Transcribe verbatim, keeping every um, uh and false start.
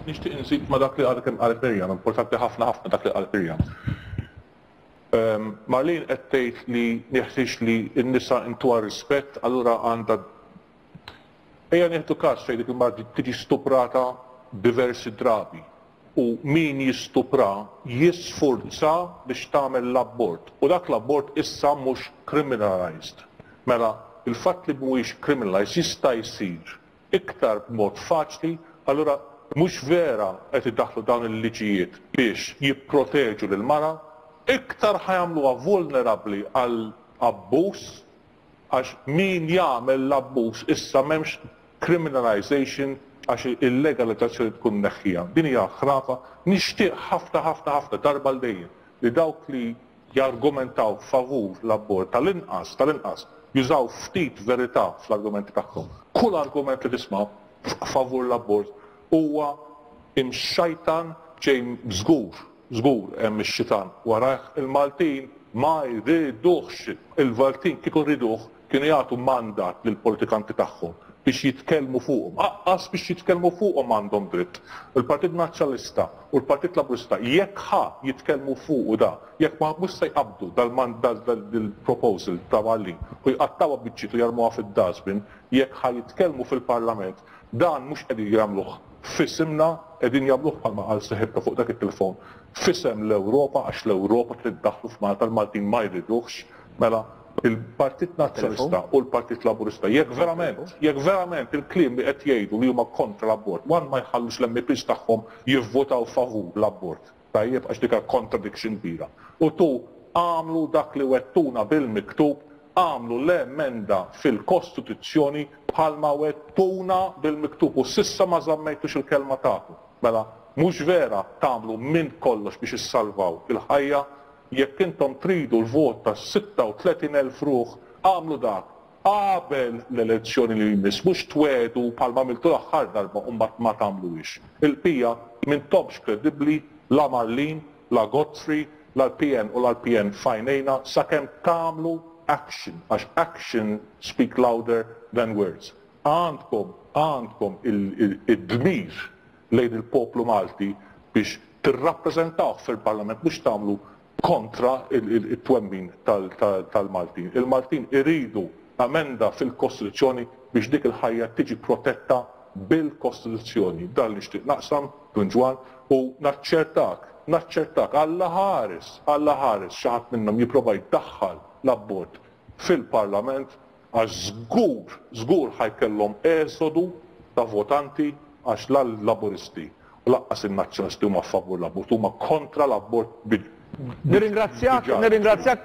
Nixtieq nżid ma' dak li għadha kemm qalet Miriam, importanti ħafna ħafna dak li qalet Miriam. Um, Marlene qed tgħid li jeħtieġ li n-nisa ntuha rispett, allura għandha. Ejja nieħdu każ fejn dik il-mara tiġi stuprata diversi drabi u min jistupra jisfurza biex tagħmel l-abort u dak l-abort issa mhux criminalized. Mela, il-fatt li mhuwiex criminalized jista' jsir iktar b'mod faċli, allura mhux vera qed idaħħlu dawn il-liġijiet biex jipproteġu lil mara, iktar ħa jagħmluha vulnerabbli għal abbuż, għax min jagħmel l-abbuż issa m'hemmx criminalization għax il-legalizzazzjoni tkun neħħija. Din hija ħrafa. Nixtieq ħafna ħafna ħafna darba l dejjem li dawk li jargumentaw favur l-abort tal-inqas tal-inqas jużaw ftit verità fl-argumenti tagħhom. Kull argument li tisma' favur l-abort huwa imxajtan, ġej żgur, żgur hemm ix-xitan warajh. Il-Maltin ma jriduhx. Il-Maltin kieku riduh kienu jagħtu mandat lill-politikanti tagħhom biex jitkellmu fuqhom. Anqas biex jitkellmu fuqhom għandhom dritt. Il-Partit Nazzjonalista u l-Partit Laburista, jekk ħa jitkellmu fuq da, jekk ma mhux se jqabdu dal-proposal ta' Marlene u jqattawha biċċiet u jarmuha fid-dustbin, jekk ħa jitkellmu fil-Parlament, dan mhux qegħdin jagħmluh f'isimna, qegħdin jagħmluh, bħalma qal seħibta fuq dak it-telefon, f'isem l-Ewropa, għax l-Ewropa trid daħlu f'Malta, l-Maltin ma jriduhx. Mela il-Partit Nazzjonalista u l-Partit Laburista, jekk verament, jekk verament il-kliem li qed jgħidu li huma kontra l-abort, one, ma jħallux l-M Ps tagħhom jivvotaw favur l-abort. Tajjeb, għax dika contradiction kbira. U two, għamlu dak li wegħdtuna bil-miktub, għamlu l-emenda fil-Kostituzzjoni bħalma wegħdtuna bil-miktub u s'issa ma żammejtux il-kelma tagħkom. Mela, mhux vera tagħmlu minn kollox biex issalvaw il-ħajja. Jekk intom tridu l-vot ta' sitta u tletin elf ruħ, għamlu dak qabel l-elezzjoni li jmiss, mhux twiegħdu bħalma għamiltu l-aħħar darba u mbagħad ma tagħmluhiex. Il-pija m'intomx kredibbli, la Marlene, la Godfrey, la l-P N u la l-P N f'għajnejna sakemm tagħmlu action, għax action speak louder than words. Għandkom, għandkom il-dmir lejn il-poplu Malti biex tirrappreżentaw fil-Parlament, mhux tagħmlu kontra il-twemmin tal-Maltin. Il-Maltin iridu amenda fil-Kostituzzjoni biex dik il-ħajja tiġi protetta bil-Kostituzzjoni. Dan nixtieq naqsam, Dun Ġwann, u naċċertak, naċċertak, Alla ħares, Alla ħares, xi ħadd minnhom jipprova jdaħħal l-abort fil-Parlament, għax żgur, żgur ħa jkollhom eżodu ta' votanti, għax la l-Laburisti u lanqas il-Nazzjonalisti huma favur l-abort, huma kontra l-abort. Nirringrazzjak, nirringrazzjak.